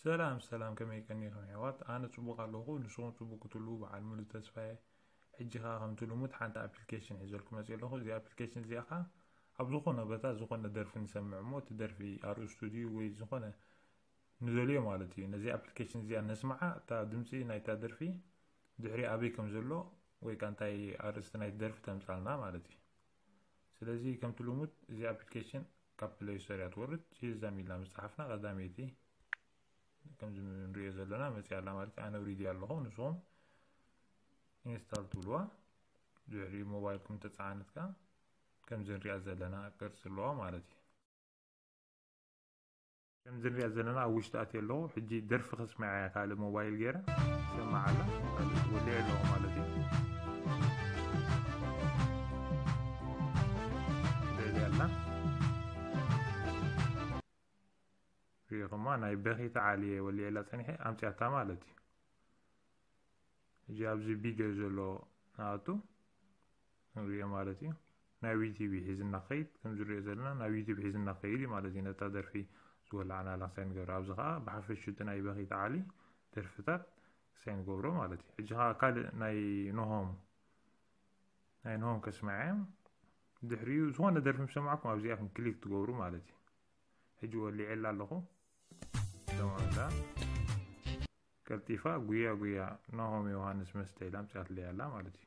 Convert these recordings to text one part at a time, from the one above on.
ሰላም ሰላም፣ ከመይ ቀኒኹም ኣሕዋት? ኣነ ጽቡቕ ኣለኹ፣ ንስኹም ጽቡቕ ክትህልዉ በዓል ሙሉ ተስፋ እየ። ሕጂ ኸኣ ከምቲ ልሙድ ሓንቲ ኣፕሊኬሽን ሒዘልኩም መጺአ ኣለኹ። እዚኣ ኣፕሊኬሽን እዚኣ ኸኣ ኣብ ዝኾነ ቦታ ዝኾነ ደርፊ ንሰምዕ እሞ፣ እቲ ደርፊ ኣርእስቱ ድዩ ወይ ዝኾነ ንደልዮ ማለት እዩ። ነዚ ኣፕሊኬሽን እዚኣ ነስምዓ፣ እታ ድምጺ ናይታ ደርፊ ድሕሪ ኣበይ ከም ዘሎ ወይ ከኣ እንታይ ኣርእስቲ ናይቲ ደርፊ ተምጻልና ማለት እዩ። ስለዚ ከምቲ ልሙድ እዚ ኣፕሊኬሽን ካብ ፕሌይ ስቶር እያ ትወርድ። ሺዛም ኢልና ምስ ጸሓፍና ቀዳመይቲ ከምዚ ንሪኦ ዘለና መጺኣ ኣላ ማለት እዩ። ኣነ ኣውሪደ ኣለኹ፣ ንስኹም ኢንስታል ትብልዋ። ድሕሪ ሞባይልኩም ተጻዕነት ከኣ ከምዚ ንሪኣ ዘለና ቅርጺ ኣለዋ ማለት እዩ። ከምዚ ንሪኣ ዘለና ኣብ ውሽጢ ኣትየ ኣለኹ። ሕጂ ደርፊ ከስምዓ እያ፣ ካልእ ሞባይል ገይረ ሰማዕ ኣላ። ካልእ ወሊዐ ኣለኹ ማለት እዩ። ልዕሊ ኣላ ሪኢኹማ፣ ናይ በኺት ዓሊ እየ ወሊዐላ ጸኒሐ፣ ኣምጺኣታ ማለት እዩ። ሕጂ ኣብዚ ቪድዮ ዘሎ ንኣቱ ንሪኦ ማለት እዩ። ናይ ዩቲብ ሒዝና ክኸይድ፣ ከም ዝሪኦ ዘለና ናብ ዩቲብ ሒዝና ክኸይድ እዩ ማለት እዩ። ነታ ደርፊ ዝወላዕናላ ክሳይ ንገብር፣ ኣብዚ ኸኣ ብሓፈሽኡ እቲ ናይ በኺት ዓሊ ደርፍታት ክሳይ ንገብሮ ማለት እዩ። ሕጂ ኸኣ ካልእ ናይ ኖሆም፣ ናይ ኖሆም ከስምዓ እየ። ድሕሪኡ ዝኾነ ደርፊ ምስ ሰማዕኩም ኣብዚኣ ከም ክሊክ ትገብሩ ማለት እዩ። ሕጂ ወሊዐላ ኣለኹ። ደማንዳ ቀልጢፋ ጉያ ጉያ ናሆም ዮሃንስ መስተ ኢላ ኣምጺኣትለይ ኣላ ማለት እዩ።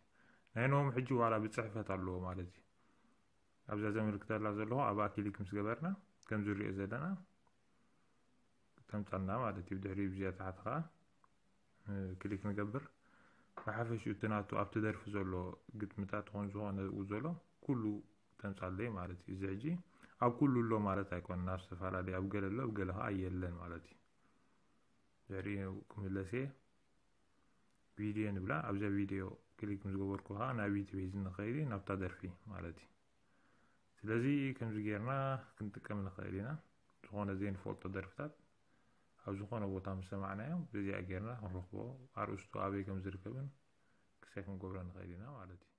ናይ ናሆም ሕጂ ዋላ ብጽሕፈት ኣለዎ ማለት እዩ። ኣብዛ ዘመልክተላ ዘለኹ ኣብኣ ክሊክ ምስ ገበርና፣ ከም ዝሪኦ ዘለና ተምጻልና ማለት እዩ። ብድሕሪኡ ብዚኣ ታሕቲ ኸኣ፣ እ፣ ክሊክ ንገብር። ብሓፈሽኡ እቲ ናቱ ኣብቲ ደርፊ ዘሎ ግጥምታት ኾን ዝኾነ ኣብኡ ዘሎ ኩሉ ተምጻለይ ማለት እዩ። እዚ ሕጂ ኣብ ኩሉ ኣሎ ማለት ኣይኮነን። ኣብ ዝተፈላለየ፣ ኣብ ገለ ኣሎ፣ ኣብ ገለ ኸኣ የለን ማለት እዩ። ድሕሪኡ ክምለስ እየ። ቪድዮ ንብላ። ኣብዛ ቪድዮ ክሊክ ምስ ገበርኩ ኸኣ ናብ ዩቲብ ሒዝኒ ክኸይድ እዩ፣ ናብታ ደርፊ ማለት እዩ። ስለዚ ከምዚ ጌርና ክንጥቀም ንኽእል ኢና። ዝኾነ ዘይንፈልጦ ደርፍታት ኣብ ዝኾነ ቦታ ምስ ሰማዕናዮ፣ በዚኣ ጌርና ክንረኽቦ፣ ኣርእስቱ ኣበይ ከም ዝርከብን ክሳይ ክንገብሮ ንኽእል ኢና ማለት እዩ።